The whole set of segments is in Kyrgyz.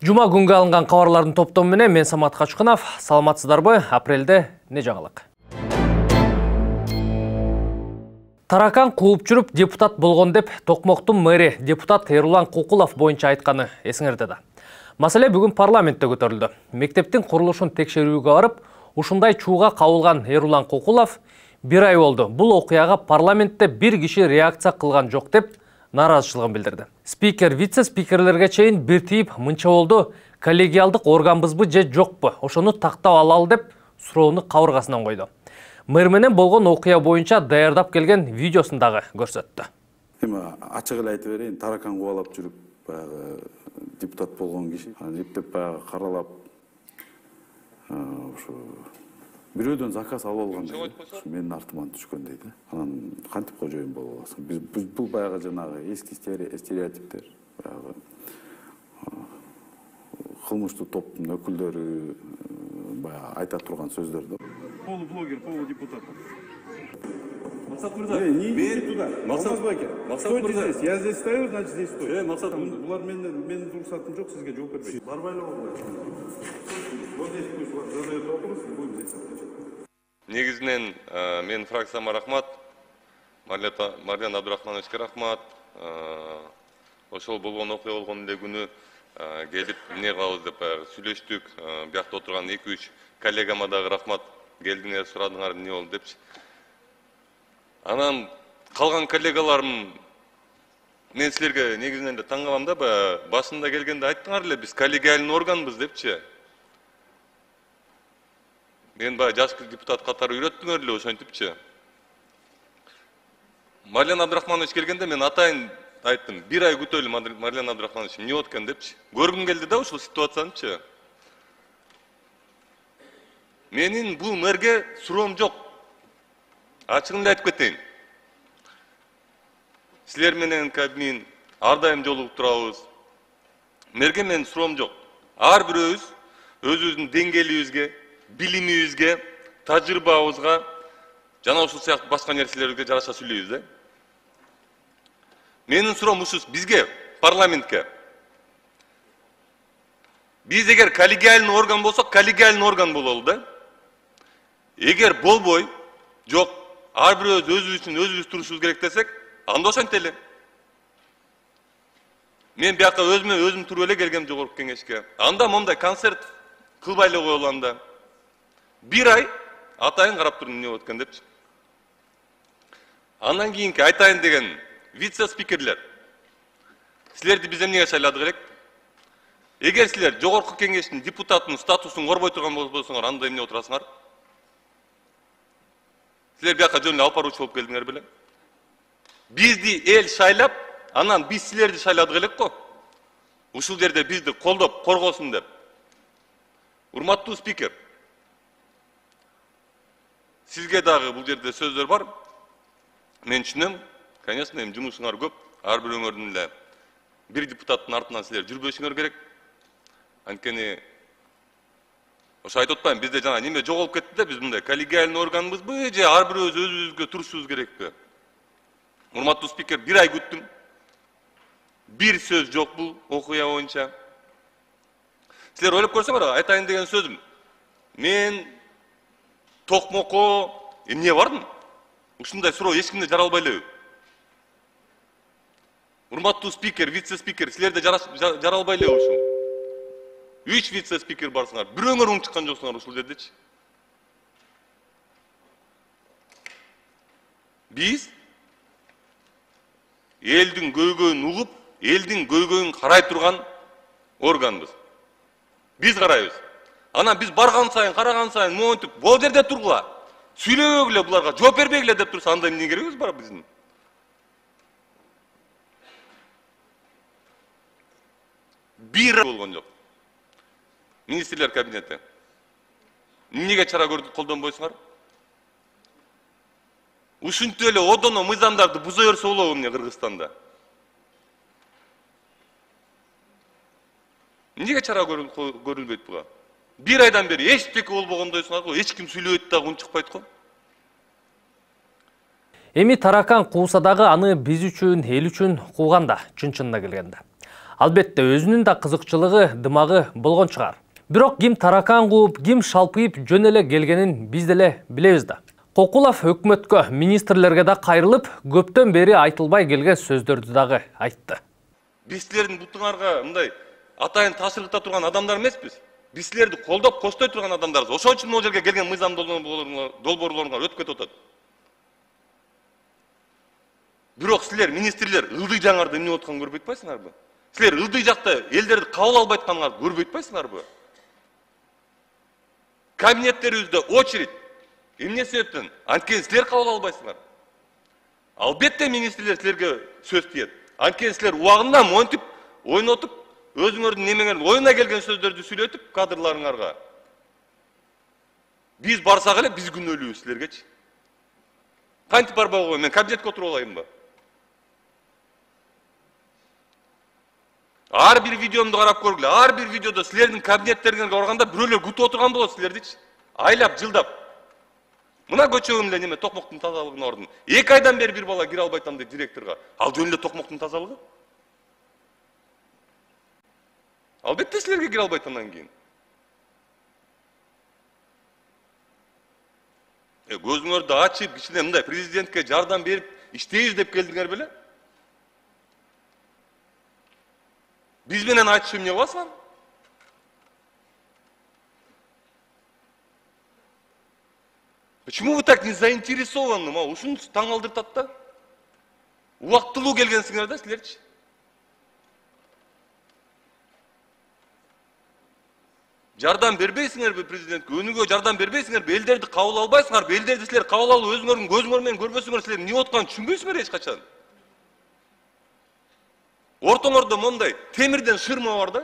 Жума күнгө алынган кабарлардын топтому менен мен Самат Качкынов. Саламатсыздарбы? Апрелде не жаңылык? Таракан кууп жүрүп депутат болгон деп Токмоктун мэри депутат Эрулан Кукулов боюнча айтканы эсиңерде да. Маселе бүгүн парламентте көтөрүлдү. Мектептин курулушун текшерүүгө барып, ушундай чууга кабылган Эрулан Кукулов бир ай болду. Бул окуяга парламентте бир киши реакция кылган жок деп наразычылыгын билдирди. Спикер, вице-спикерлерге чейин бир тийип мынча болду: коллегиалдык органбызбы же жокпу? Ошону тактап алалы деп суроону кабыргасынан койду. Мэр менен болгон окуя боюнча даярдап келген видеосун дагы көрсөттү. Эми ачык эле айтып берейин, таракан кубалап жүрүп, баягы депутат болгон киши, эптеп баягы каралап, ошо бирөөдөн заказ алып алган. Менин артыман түшкөн дейт. Анан кантип кожоюн болуп аласың? Биз бул баягы жанагы эски стереотиптер, баягы кылмыштуу топтун өкүлдөрү баягы айта турган сөздөр да. Полублогер, полудепутат. Максат Мырза, не туда. Максат Баке. Стойте здесь. Я здесь стою, значит здесь стою. Максат Мырза. Булар менин рұқсатым жоқ, сизге жооп бербейт. Барбайлап албайсыз. Вот здесь пусть задает вопросы, будем здесь отвечать. Негизинен мен фракцияма рахмат, Марьян Абдрахмановичке рахмат. Ошол болгон окуя болгон эле күнү келип эмне кылабыз деп сүйлөштүк. Биякта отурган 2-3 коллегама дагы рахмат. Келдиңер, сурадыңар эмне болду депчи. Анан калган коллегаларым, мен силерге негизинен эле таң калам да, башында келгенде айттыңар эле, биз коллегиальный органбыз депчи. Мен жаш депутат катары үйрөттүңөр эле ошентипчи. Марьян Абдрахманович келгенде мен атайын айттым, бир ай күтөлү Марьян Абдрахманович эмне болот экен депчи. Көргүм келди да ушул ситуациянычы. Менин бул мэрге суроом жок. Ачыгын эле айтып кетейин. Силер менен Кабмин ар дайым жолугуп турабыз. Мэрге менин суроом жок. Ар бирөөбүз өзүбүздүн деңгээлибизге, билимибизге, тажрыйбабызга жана ушул сыяктуу башка нерселерге жараша сүйлөйбүз да. Менин суроом ушул бизге, парламентке. Биз эгер коллегиальный орган болсок, коллегиальный орган бололу да. Эгер болбой, жок, ар бирөөбүз өзүбүз үчүн өзүбүз турушубуз керек десек, анда ошентели. Мен бияка өзүм туруп эле келгем жогорку кеңешке. Анда мондай концерт кылбай эле коелу анда. Бир ай атайын карап турдум эмне болот экен депчи. Андан кийинки айтайын деген вице-спикерлер. Силерди биз эмнеге шайладык элек? Эгер силер жогорку кеңештин депутатынын статусун корбой турган болсоңор, анда эмне отурасыңар? Силер бияка жөн эле алып баруучу болуп келдиңер беле? Бизди эл шайлап, анан биз силерди шайладык элек го. Ушул жерде бизди колдоп, коргосун деп. Урматтуу спикер, сизге дагы бул жерде сөздөр бар. Мен түшүнөм, конечно, эми жумушуңар көп. Ар бирөөңөрдүн эле бир депутаттын артынан силер жүрбөшүңөр керек. Анткени ошо айтып атпайм, бизде жана неме жоголуп кетти да, биз мындай коллегиальный органбызбы же ар бирөөбүз өзүбүзгө турушубуз керекпи? Урматтуу спикер, бир ай күттүм. Бир сөз жок бул окуя боюнча. Силер ойлоп көрсөңөр, айтайын деген сөзүм. Мен Токмокко эмне бардым? Ушундай суроо эч кимде жара албай элеби? Урматтуу спикер, вице-спикер, силерде жара албай элеби ушул? 3 вице-спикер барсыңар, бирөөңөр уң чыккан жоксуңар ушул жердечи. Биз элдин көйгөйүн угуп, элдин көйгөйүн карай турган органбыз. Биз карайбыз. Анан биз барган сайын, караган сайын, монтип, бул жерде тургула. Сүйлөбөгүлө буларга, жооп бербегиле деп турса, анда эмне керегибиз бар биздин? Бир болгон жок. Министрлер кабинети. Эмнеге чара колдонбойсуңар? Ушинтип эле одоно мыйзамдарды буза берсе болобу эмне Кыргызстанда? Эмнеге чара көрүлбөйт буга? Бир айдан бери эчтеке болбогондойсуңар го, эч ким сүйлөбөйт дагы үн чыкпайт го. Эми таракан кууса дагы аны биз үчүн, эл үчүн кууганда, чын-чынына келгенде. Албетте өзүнүн да кызыкчылыгы, дымагы болгон чыгар. Бирок ким таракан кууп, ким шалпыйып жөн эле келгенин биз деле билебиз да. Кокулов өкмөткө, министрлерге да кайрылып, көптөн бери айтылбай келген сөздөрдү дагы айтты. Биз силердин бутуңарга мындай атайын таасиркта турган адамдар эмеспиз. Биз силерди колдоп, коштой турган адамдарбыз. Ошон үчүн могул жерге келген мыйзам долбоорлоруңар өтүп кетип атат. Бирок силер министрлер ылдый жаңарды эмне болуп атканын көрбөй атпайсыңарбы? Силер ылдый жакта элдерди кабыл албай атканыңарды көрбөй атпайсыңарбы? Кабинеттерибизде очередь. Эмне себептен? Анткени силер кабыл албайсыңар. Албетте министрлер силерге сөз тиет. Анткени силер убагында монтип, ойнотуп, өзүңөрдүн немеңердин оюна келген сөздөрдү сүйлөтүп кадрларыңарга. Биз барсак эле биз күнөөлүүбүз силергечи. Кантип барбай койгон, мен кабинетке отуруп алайынбы? Ар бир видеомду карап көргүлө. Ар бир видеодо силердин кабинеттериңерге барганда бирөөлөр күтүп отурган болот силердичи. Айлап, жылдап. Мына көчөгүм эле неме токмоктун тазалыгына ордун. 2 айдан бери бир бала кире албай атам дейт директорго. Ал жөн эле токмоктун тазалыгы. Албетте силерге кире албайт андан кийин. Көзүңөрдү ачып, кичине мындай президентке жардам берип иштейбиз деп келдиңер беле? Биз менен айтышып эмне кыласыңар? Почему вы так не заинтересованы? Ушуну таң алдыртат да. Убактылуу келгенсиңер да силерчи. Жардам бербейсиңерби президентке? Өнүгүүгө жардам бербейсиңерби? Элдерди кабыл албайсыңарбы? Элдерди силер кабыл алып өзүңөрдүн көзүңөр менен көрбөсөңөр силер эмне болуп атканын түшүнбөйсүңөр эч качан. Ортоңордо мондай темирден шырма бар да.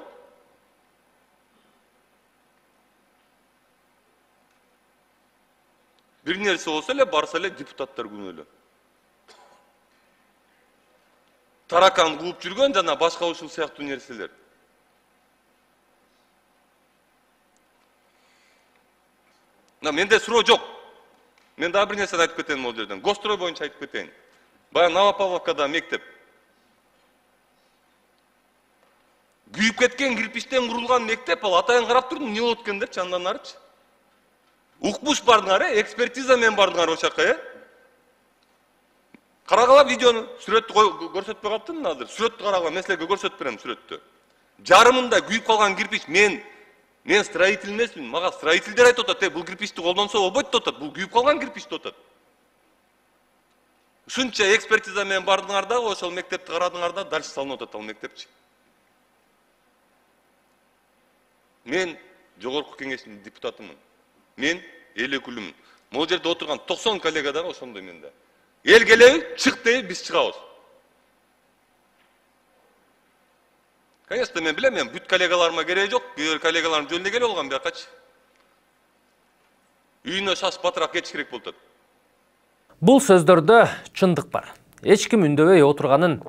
Бир нерсе болсо эле барса эле депутаттар күнөөлүү. Таракан кууп жүргөн жана башка ушул сыяктуу нерселер. Менде суроо жок. Мен дагы бир нерсени айтып кетейин могул жерден. Гострой боюнча айтып кетейин. Баягы Новопавловкада мектеп. Күйүп кеткен кирпичтен курулган мектеп, ал атайын карап турдум, эмне болот экен депчи андан арычы. Укмуш бардыңар, экспертиза менен бардыңар ошол жака, Карагыла видеону, сүрөттү көрсөтпөй калыптырмын азыр. Сүрөттү карагыла, мен силерге көрсөтүп берем сүрөттү. Жарымында күйүп калган кирпич, мен строитель эмесмин, мага строительдер айтып атат, бул кирпичти колдонсо болбойт деп атат, бул күйүп калган кирпич деп атат. Ушунча экспертиза менен бардыңар да, ошол мектепти карадыңар да, дальше салынып атат ал мектепчи. Мен жогорку кеңештин депутатымын. Мен эл өкүлүмүн. Могул жерде отурган 90 коллега дагы ошондой менде. Эл келеби, чык дейби, биз чыгабыз. Конечно, мен билем, мен бүт коллегаларыма кереги жок, бир коллегаларым жөн эле келип алган биякачы. Үйүнө шаш батыраак кетиш керек болуп атат. Бул сөздөрдө чындык бар. Эч ким үндөбөй отурганын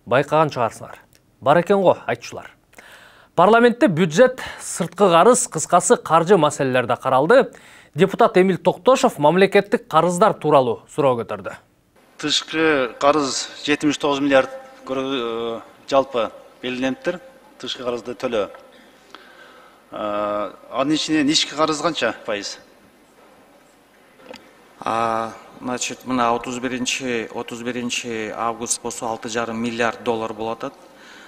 байкаган чыгарсыңар. Бар экен го айтчулар. Парламентте бюджет, сырткы карыз, кыскасы каржы маселелерде каралды. Депутат Эмил Токтошов мамлекеттик карыздар тууралуу суроо көтөрдү. Тышкы карыз 79 миллиард жалпы белгилениптир. Тышкы карызды төлөө. Анын ичинен ички карыз канча пайыз? Значит, мына 31 август болсо 6,5 миллиард доллар болот атат.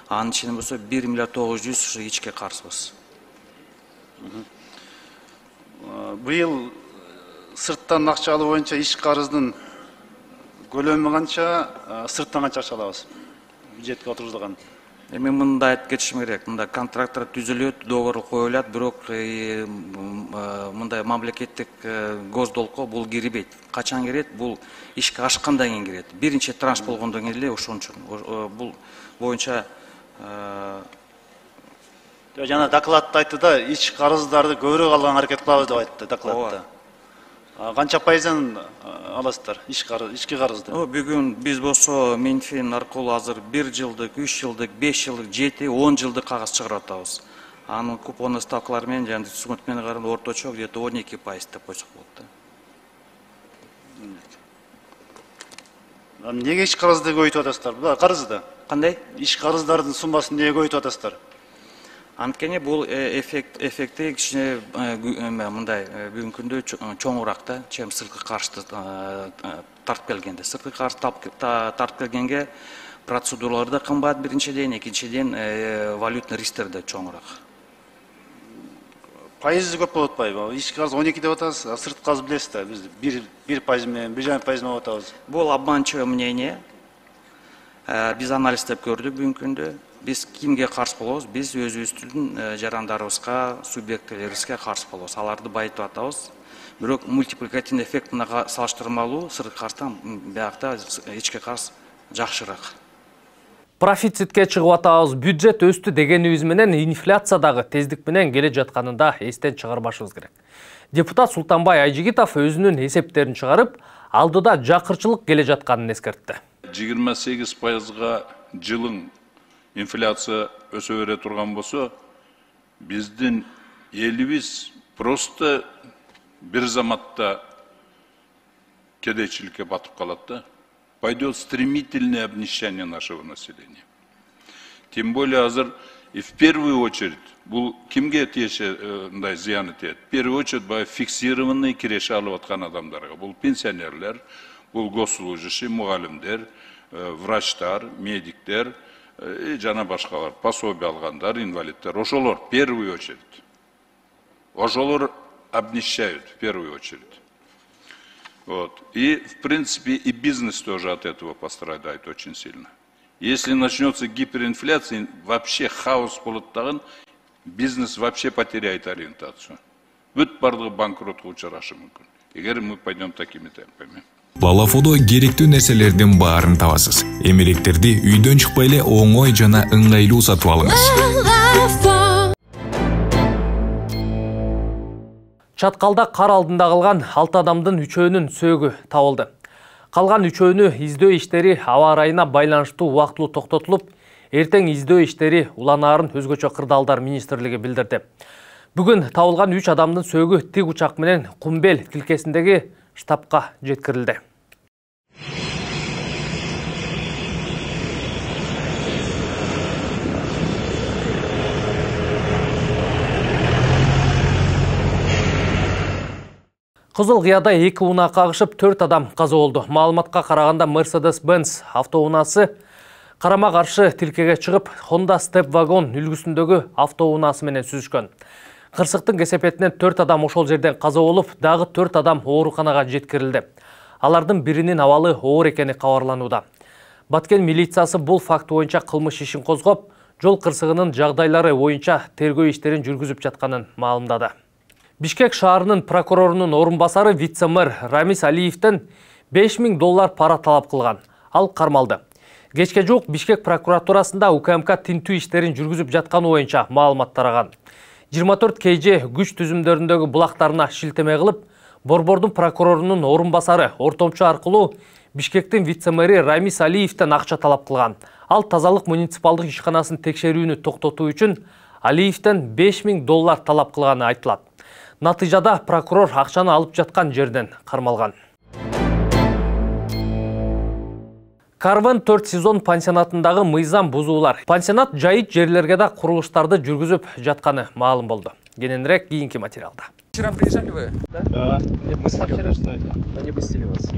Анын ичинен болсо 1 миллиард 900 ушу ички карызбыз. Быйыл сырттан акча алуу боюнча ички карыздын көлөмү канча, сырттан канча акча алабыз? Бюджетке отургузулган. Эми мындай айтып кетишим керек. Мында контракттар түзүлөт, договор коюлат, бирок мындай мамлекеттик госдолго бул кирбейт. Качан кирет? Бул ишке ашкандан кийин кирет. Биринчи транш болгондон кийин эле ошон үчүн. Бул боюнча жана докладта айтты да, ички карыздарды көбүрөөк алган аракет кылабыз деп айтты докладта. Канча пайызын аласыздар ички карызды? Бүгүн биз болсо Минфин аркылуу азыр 1 жылдык, 3 жылдык, 5 жылдык, 7, 10 жылдык кагаз чыгарып атабыз. Анын купонный ставкалары менен жана түсүнүк менен караганда орточо где-то 12% деп койсок болот да. Эмнеге ички карызды көбөйтүп атасыздар? Бул карызды Кандай? Иш карыздардын суммасын эмнеге көбөйтүп атасыздар? Анткени бул эффекти кичине мындай бүгүнкү күндө чоңураак да, чем сырткы каржды тартып келгенде. Сырткы каржды тартып келгенге процедуралар да кымбат биринчиден, экинчиден валютный ристтер да чоңураак. Пайызы көп болуп атпайбы? Иш карыз 12 деп атасыз, а сырткы карыз билесиз да, биз 1% менен 1,5% менен атабыз. Бул обманчивое мнение. Биз анализдеп көрдүк бүгүнкү күндө. Биз кимге каршы болобуз? Биз өзүбүздүн жарандарыбызга, субъектилерибизге каршы болобуз. Аларды байытып атабыз. Бирок мультипликативный эффект мынага салыштырмалуу сырткы карыздан биякта ички карыз жакшыраак. Профицитке чыгып атабыз, бюджет өстү дегенибиз менен инфляция дагы тездик менен келе жатканында эстен чыгарбашыбыз керек. Депутат Султанбай Айжигитов өзүнүн эсептерин чыгарып, алдыда жакырчылык келе жатканын эскертти. 28%-га жылың инфляция өсө бере турган болсо, биздин элибиз просто бир заматта кедейчиликке батып калат да. Пойдет стремительное обнищание нашего населения. Тем более азыр и в первую очередь, бул кимге тиешендай зыяны тиет? В первую очередь фиксированный киреше алып аткан адамдарга. Бул пенсионерлер, бул госслужащий, мугалимдер, врачтар, медиктер, жана башкалар, пособие алгандар, инвалидтер, ошолор в первую очередь. Ошолор обнищают в первую очередь. Вот. И, в принципе, и бизнес тоже от этого пострадает очень сильно. Если начнется гиперинфляция, вообще хаос болот, бизнес вообще потеряет ориентацию. Бүт бардыгы банкротко учурашы мүмкүн. Эгер мы пойдем такими темпами. Балафодо керектүү нерселердин баарын табасыз. Эмеректерди үйдөн чыкпай эле оңой жана ыңгайлуу сатып алыңыз. Чаткалда кар алдында калган 6 адамдын 3өөнүн сөөгү табылды. Калган 3өөнү издөө иштери аба ырайына байланыштуу убактылуу токтотулуп, эртең издөө иштери уланаарын өзгөчө кырдаалдар министрлиги билдирди. Бүгүн табылган 3 адамдын сөөгү тик учак менен Кумбел тилкесиндеги штабка жеткирилди. Кызыл Кыяда 2 унаа кагышып 4 адам каза болду. Маалыматка караганда Mercedes-Benz автоунаасы карама каршы тилкеге чыгып, Honda Step Wagon үлгүсүндөгү автоунаасы менен сүзүшкөн. Кырсыктын кесепетинен 4 адам ошол жерден каза болуп, дагы 4 адам ооруканага жеткирилди. Алардын биринин абалы оор экени кабарланууда. Баткен милициясы бул факт боюнча кылмыш ишин козгоп, жол кырсыгынын жагдайлары боюнча тергөө иштерин жүргүзүп жатканын маалымдады. Бишкек шаарынын прокурорунун орун басары вице-мэр Рамис Алиевден $5000 пара талап кылган. Ал кармалды. Кечке жук Бишкек прокуратурасында УКМК тинтүү иштерин жүргүзүп жатканы боюнча маалымат тараган. 24 KG күч түзүмдөрүндөгү булактарына шилтеме кылып, Борбордун прокурорунун орун басары ортомчу аркылуу Бишкектин вице-мэри Рамис Алиевден акча талап кылган. Ал тазалык муниципалдык ишканасын текшерүүнү токтотуу үчүн Алиевден $5000 талап кылганы айтылат. Натыйжада прокурор акчаны алып жаткан жерден кармалган. Карвен 4 сезон пансионатындагы мыйзам бузуулар. Пансионат жайыт жерлерге да курулуштарды жүргүзүп жатканы маалым болду. Кененирээк кийинки материалда. Вчера приезжали вы? Да. Мы вчера что это? Они пустили вас.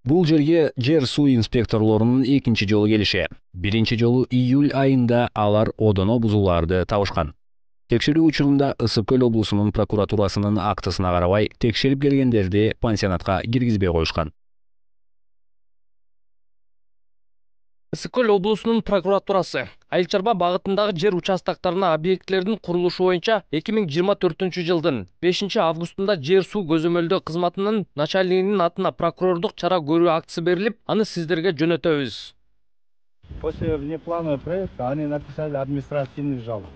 Бул жерге жер суу инспекторлорунун экинчи жолу келиши. Биринчи жолу июль айында алар одоно бузууларды табышкан. Текшерүү учурунда Ысык-Көл облусунун прокуратурасынын актысына карабай текшерип келгендерди пансионатка киргизбей коюшкан. Ысык-Көл облусунун прокуратурасы Айыл чарба багытындагы жер участоктарына объектлердин курулушу боюнча 2024 жылдын 5 августунда жер суу көзөмөлдөө кызматынын начальнигинин атына прокурордук чара көрүү актысы берилип, аны сиздерге жөнөтөбүз. После внепланового проекта они написали административный жалоб.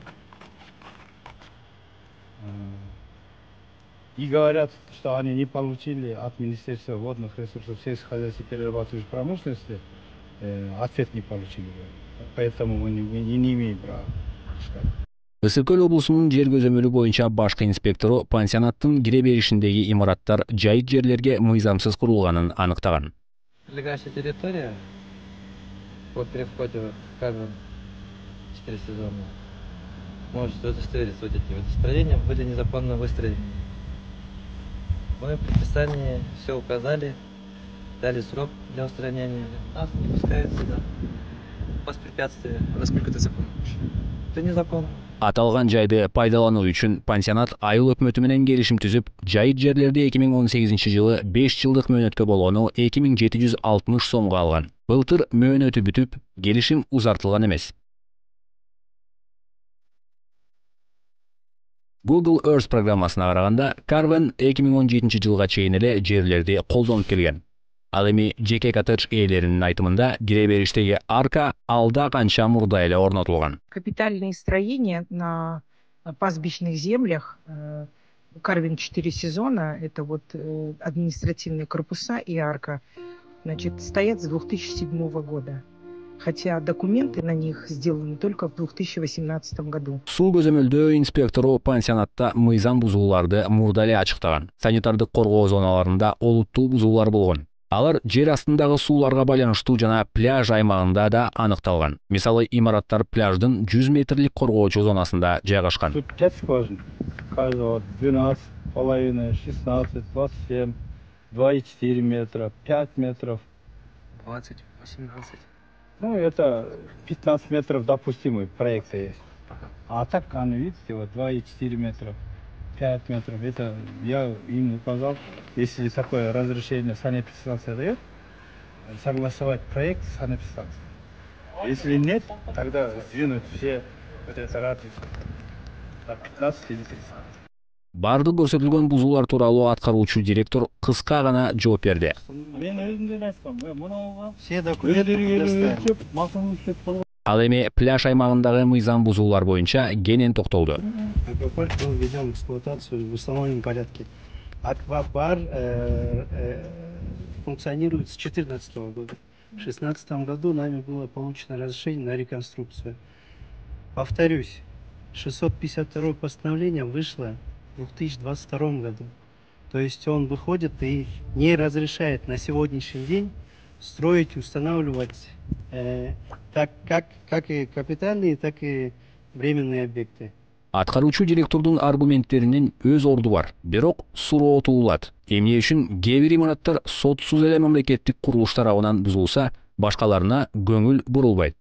И говорят, что они не получили от Министерства водных ресурсов сельскохозяйственной и перерабатывающей промышленности ответ не получили. Поэтому мы не имеем права пускать. Ысык-Көл облусунун жер көзөмөлү боюнча башкы инспектору пансионаттын кире беришиндеги имараттар жайыт жерлерге мыйзамсыз курулганын аныктаган. Прилегающая территория по переходу в Карвин 4 сезона. Можете удостовериться, вот эти вот строения были незаконно выстроены. Мы в предписании все указали, дали срок для устранения. Нас не пускают сюда. Воспрепятствие. Насколько это законно? Это незаконно. Аталган жайды пайдалануу үчүн пансионат айыл өкмөтү менен келишим түзүп, жайыт жерлерди 2018-жылы 5 жылдык мөөнөткө болгону 2760 сомго алган. Былтыр мөөнөтү бүтүп, келишим узартылган эмес. Google Earth программасына караганда, Карвен 2017-жылга чейин эле жерлерди колдонуп келген. Ал эми жеке коттедж ээлеринин айтымында кире бериштеги арка алда канча мурда эле орнотулган. Капитальные строения на пастбищных землях Карвин 4 сезона, это вот административные корпуса и арка, значит, стоят с 2007 года. Хотя документы на них сделаны только в 2018 году. Суу көзөмөлдөө инспектору пансионатта мыйзам бузууларды мурда эле ачыктаган. Санитардык коргоо зоналарында олуттуу бузуулар болгон. Алар жер астындагы сууларга байланыштуу жана пляж аймагында да аныкталган. Мисалы, имараттар пляждын 100 метрлик коргоочу зонасында жайгашкан. 5 скважин. Каждого 12, половина, 16, 27, 2,4 метра, 5 метров. 20, 18. Ну, это 15 метров допустимый проект есть. А так, видите, вот 2,4 метра, 5 метров. Это я им указал, если такое разрешение санэпидстанция дает, согласовать проект с санэпидстанцией. Если нет, тогда сдвинуть все вот это радиус на 15 или 30. Бардык көрсөтүлгөн бузуулар тууралуу аткаруучу директор кыска гана жооп берди. Мен өзүмдөн айткам, мына все документтер Ал эми пляж аймагындагы мыйзам бузуулар боюнча кенен токтолду. Аквапарк был введен в эксплуатацию в установленном порядке. Аквапарк функционирует с 2014 года. В 2016 году нами было получено разрешение на реконструкцию. Повторюсь, 652 постановление вышло в 2022 году. То есть он выходит и не разрешает на сегодняшний день строить, устанавливать как и капитальные, так и временные объекты. Аткаруучу директордун аргументтеринин өз орду бар, бирок суроо туулат. Эмне үчүн кээ бир имараттар сотсуз эле мамлекеттик курулуш тарабынан бузулса, башкаларына көңүл бурулбайт.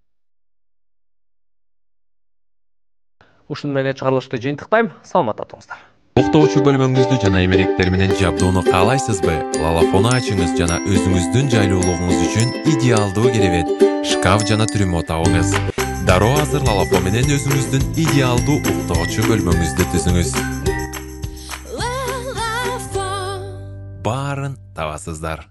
Ушун менен чыгарылышты жыйынтыктайм. Саламатта туруңуздар. Уктоочу бөлмөңүздү жана эмеректер менен жабдууну каалайсызбы? Лалафону ачыңыз жана өзүңүздүн жайлуулугуңуз үчүн идеалдуу керебет, шкаф жана трюмо табыңыз. Дароо азыр лалафон менен өзүңүздүн идеалдуу уктоочу бөлмөңүздү түзүңүз. Баарын табасыздар.